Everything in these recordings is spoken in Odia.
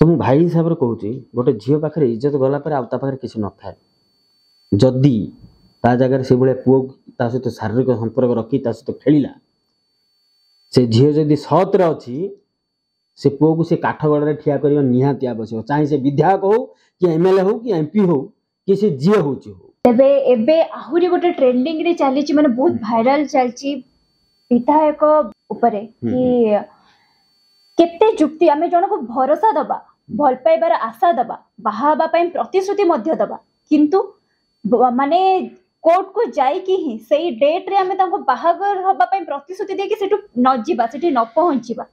ତ ମୁଁ ଭାଇ ହିସାବରେ କହୁଛି, ଗୋଟେ ଝିଅ ପାଖରେ ଇଜ୍ଜତ ଗଲା ପରେ ଆଉ ତା ପାଖରେ କିଛି ନଥାଏ। ଯଦି ତା ଜାଗାରେ ସେଇଭଳିଆ ପୁଅ ତା ସହିତ ଶାରୀରିକ ସମ୍ପର୍କ ରଖି ତା ସହିତ ଖେଳିଲା, ସେ ଝିଅ ଯଦି ସତରେ ଅଛି, ସେ ପୁଅକୁ ସେ କାଠଗଡ଼ାରେ ଠିଆ କରିବା ନିହାତି ଆବଶ୍ୟକ, ଚାହେଁ ସେ ବିଧାୟକ ହଉ କି ଏମଏଲଏ ହଉ କି ଏମପି ହଉ କି ସେ ଯିଏ ହଉଛି ହଉ। ତେବେ ଏବେ ଆହୁରି ଗୋଟେ ଟ୍ରେଣ୍ଡିଂ ରେ ଚାଲିଛି, ମାନେ ବହୁତ ଭାଇରାଲ ଚାଲିଛି ବିଧାୟକ ଉପରେ କି କେତେ ଯୁକ୍ତି ଆମେ ଜଣକୁ ଭରସା ଦବା, ଭଲ ପାଇବାର ଆଶା ଦବା, ବାହା ହେବା ପାଇଁ ପ୍ରତିଶ୍ରୁତି ମଧ୍ୟ ଦବା, କିନ୍ତୁ ମାନେ କୋର୍ଟକୁ ଯାଇକି ହିଁ ସେଇ ଡେଟ୍ରେ ଆମେ ତାଙ୍କୁ ବାହାଘର ହବା ପାଇଁ ପ୍ରତିଶ୍ରୁତି ଦେଇକି ସେଠୁ ନ ଯିବା, ସେଠି ନ ପହଞ୍ଚିବା,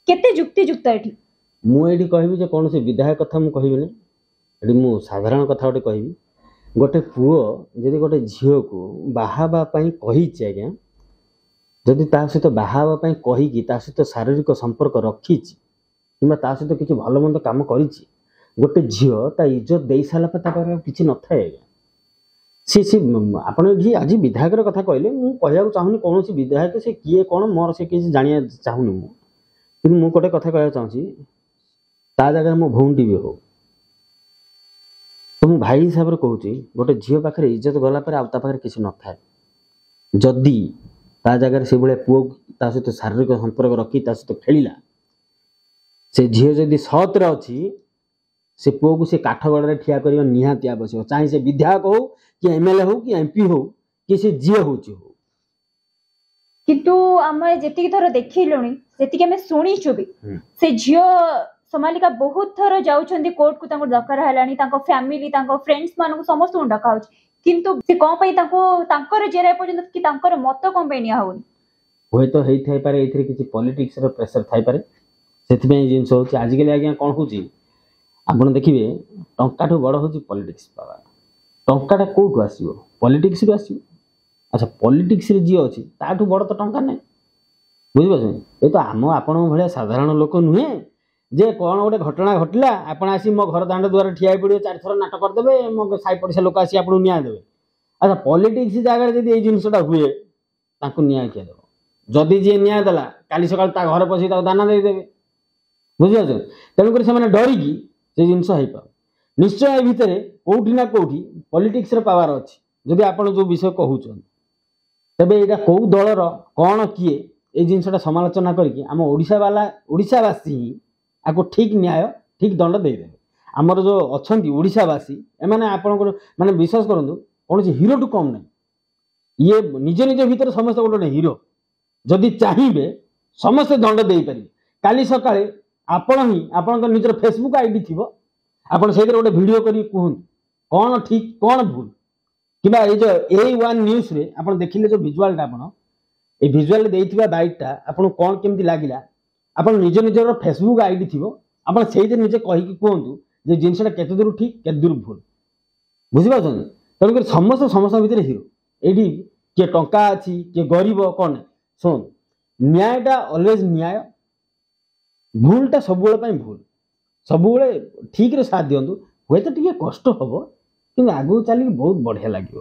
କେତେ ଯୁକ୍ତିଯୁକ୍ତ ଏଠି? ମୁଁ ଏଇଠି କହିବି ଯେ କୌଣସି ବିଧାୟକ କଥା ମୁଁ କହିବିନି, ଏଠି ମୁଁ ସାଧାରଣ କଥା ଗୋଟେ କହିବି। ଗୋଟେ ପୁଅ ଯଦି ଗୋଟେ ଝିଅକୁ ବାହା ହେବା ପାଇଁ କହିଛି ଆଜ୍ଞା, ଯଦି ତା ସହିତ ବାହା ହେବା ପାଇଁ କହିକି ତା ସହିତ ଶାରୀରିକ ସମ୍ପର୍କ ରଖିଛି କିମ୍ବା ତା ସହିତ କିଛି ଭଲ ମନ୍ଦ କାମ କରିଛି, ଗୋଟେ ଝିଅ ତା ଇଜ୍ଜତ ଦେଇ ସାରିଲା ପରେ ତା ପାଖରେ ଆଉ କିଛି ନଥାଏ ଆଜ୍ଞା। ସେ ସେ ଆପଣ ଏଠି ଆଜି ବିଧାୟକର କଥା କହିଲେ, ମୁଁ କହିବାକୁ ଚାହୁଁନି କୌଣସି ବିଧାୟକ ସେ କିଏ କ'ଣ, ମୋର ସେ କିଛି ଜାଣିବା ଚାହୁଁନି ମୁଁ। କିନ୍ତୁ ମୁଁ ଗୋଟେ କଥା କହିବାକୁ ଚାହୁଁଛି, ତା ଜାଗାରେ ମୋ ଭଉଣୀଟି ବି ହଉ, ତ ମୁଁ ଭାଇ ହିସାବରେ କହୁଛି, ଗୋଟେ ଝିଅ ପାଖରେ ଇଜ୍ଜତ ଗଲା ପରେ ଆଉ ତା ପାଖରେ କିଛି ନଥାଏ। ଯଦି ତା ଜାଗାରେ ସେଇଭଳିଆ ପୁଅ ତା ସହିତ ଶାରୀରିକ ସମ୍ପର୍କ ରଖି ତା ସହିତ ଖେଳିଲା, ସେ ଝିଅ ଯଦି ସତରେ ଅଛି, ସେ ପୁଅକୁ ସେ କାଠଗଡ଼ାରେ ଠିଆ କରିବା ନିହାତି ଆବଶ୍ୟକ, ଚାହେଁ ସେ ବିଧାୟକ ହଉ କି ଏମଏଲଏ ହଉ କି ଏମପି ହଉ କି ସେ ଯିଏ ହଉଛି ହଉ। କିନ୍ତୁ ଆମେ ଯେତିକି ଥର ଦେଖିଲୁଣି, ଯେତିକି ଆମେ ଶୁଣିଛୁ ବି, ସେ ଝିଅ ସୋମାଲିକା ବହୁତ ଥର ଯାଉଛନ୍ତି କୋର୍ଟକୁ, ତାଙ୍କୁ ଦରକାର ହେଲାଣି, ତାଙ୍କ ଫ୍ୟାମିଲି, ତାଙ୍କ ଫ୍ରେଣ୍ଡସ୍ ମାନଙ୍କୁ ସମସ୍ତଙ୍କୁ ଡକା ହଉଛି, କିନ୍ତୁ ସେ କଣ ପାଇଁ ତାଙ୍କୁ ତାଙ୍କର ଜେରା ପର୍ଯ୍ୟନ୍ତ କି ତାଙ୍କର ମତ କଣ ପାଇଁ ନିଆ ହଉନି? ହୁଏତ ହେଇଥାଇପାରେ ଏଇଥିରେ କିଛି ପଲିଟିକ୍ସର ପ୍ରେସର ଥାଇପାରେ, ସେଥିପାଇଁ ଏଇ ଜିନିଷ ହଉଛି। ଆଜିକାଲି ଆଜ୍ଞା କ'ଣ ହଉଛି ଆପଣ ଦେଖିବେ, ଟଙ୍କାଠୁ ବଡ଼ ହଉଛି ପଲିଟିକ୍ସ ପାୱାର। ଟଙ୍କାଟା କୋଉଠୁ ଆସିବ? ପଲିଟିକ୍ସରୁ ଆସିବ। ଆଚ୍ଛା, ପଲିଟିକ୍ସରେ ଯିଏ ଅଛି ତାଠୁ ବଡ଼ ତ ଟଙ୍କା ନାହିଁ, ବୁଝିପାରୁଛନ୍ତି? ଏ ତ ଆମ ଆପଣଙ୍କ ଭଳିଆ ସାଧାରଣ ଲୋକ ନୁହେଁ ଯେ କ'ଣ ଗୋଟେ ଘଟଣା ଘଟିଲା ଆପଣ ଆସି ମୋ ଘର ଦାଣ୍ଡ ଦୁଆରେ ଠିଆ ହେଇ ପଡ଼ିବେ, 4 ଥର ନାଟ କରିଦେବେ, ମୋ ସାହି ପଡ଼ିଶା ଲୋକ ଆସି ଆପଣଙ୍କୁ ନ୍ୟାୟ ଦେବେ। ଆଚ୍ଛା, ପଲିଟିକ୍ସ ଜାଗାରେ ଯଦି ଏଇ ଜିନିଷଟା ହୁଏ, ତାଙ୍କୁ ନ୍ୟାୟ କିଏ ଦେବ? ଯଦି ଯିଏ ନ୍ୟାୟ ଦେଲା, କାଲି ସକାଳେ ତା ଘରେ ପଶିକି ତାକୁ ଦାନା ଦେଇଦେବେ, ବୁଝିପାରୁଛନ୍ତି? ତେଣୁକରି ସେମାନେ ଡରିକି ସେ ଜିନିଷ ହେଇପାରୁ। ନିଶ୍ଚୟ ଏ ଭିତରେ କୋଉଠି ନା କୋଉଠି ପଲିଟିକ୍ସର ପାୱାର ଅଛି, ଯଦି ଆପଣ ଯୋଉ ବିଷୟ କହୁଛନ୍ତି। ତେବେ ଏଇଟା କୋଉ ଦଳର କ'ଣ କିଏ, ଏଇ ଜିନିଷଟା ସମାଲୋଚନା କରିକି ଆମ ଓଡ଼ିଶାବାଲା, ଓଡ଼ିଶାବାସୀ ହିଁ ଆକୁ ଠିକ୍ ନ୍ୟାୟ, ଠିକ୍ ଦଣ୍ଡ ଦେଇଦେବେ। ଆମର ଯୋଉ ଅଛନ୍ତି ଓଡ଼ିଶାବାସୀ, ଏମାନେ ଆପଣଙ୍କର ମାନେ ବିଶ୍ୱାସ କରନ୍ତୁ କୌଣସି ହିରୋଠୁ କମ୍ ନାହିଁ। ଇଏ ନିଜ ନିଜ ଭିତରେ ସମସ୍ତେ ଗୋଟେ ଗୋଟେ ହିରୋ, ଯଦି ଚାହିଁବେ ସମସ୍ତେ ଦଣ୍ଡ ଦେଇପାରିବେ। କାଲି ସକାଳେ ଆପଣ ହିଁ ଆପଣଙ୍କ ନିଜର ଫେସବୁକ୍ ଆଇଡି ଥିବ, ଆପଣ ସେଇଥିରେ ଗୋଟେ ଭିଡ଼ିଓ କରିକି କୁହନ୍ତୁ କ'ଣ ଠିକ୍ କ'ଣ ଭୁଲ। କିମ୍ବା ଏଇ ଯୋଉ A1 ନ୍ୟୁଜ୍ରେ ଆପଣ ଦେଖିଲେ ଯୋଉ ଭିଜୁଆଲଟା, ଆପଣ ଏଇ ଭିଜୁଆଲରେ ଦେଇଥିବା ବାଇଟ୍ଟା ଆପଣଙ୍କୁ କ'ଣ କେମିତି ଲାଗିଲା, ଆପଣ ନିଜ ନିଜର ଫେସବୁକ୍ ଆଇଡି ଥିବ, ଆପଣ ସେଇଥିରେ ନିଜେ କହିକି କୁହନ୍ତୁ ଯେ ଜିନିଷଟା କେତେ ଦୂର ଠିକ୍ କେତେ ଦୂର ଭୁଲ, ବୁଝିପାରୁଛନ୍ତି? ତେଣୁକରି ସମସ୍ତେ ସମସ୍ତଙ୍କ ଭିତରେ ହିରୋ। ଏଇଠି କିଏ ଟଙ୍କା ଅଛି କିଏ ଗରିବ କ'ଣ ନାହିଁ। ଶୁଣନ୍ତୁ, ନ୍ୟାୟଟା ଅଲୱେଜ୍ ନ୍ୟାୟ, ଭୁଲଟା ସବୁବେଳେ ପାଇଁ ଭୁଲ। ସବୁବେଳେ ଠିକ୍ରେ ସାଥ ଦିଅନ୍ତୁ। ହୁଏତ ଟିକେ କଷ୍ଟ ହବ, କିନ୍ତୁ ଆଗକୁ ଚାଲିକି ବହୁତ ବଢ଼ିଆ ଲାଗିବ।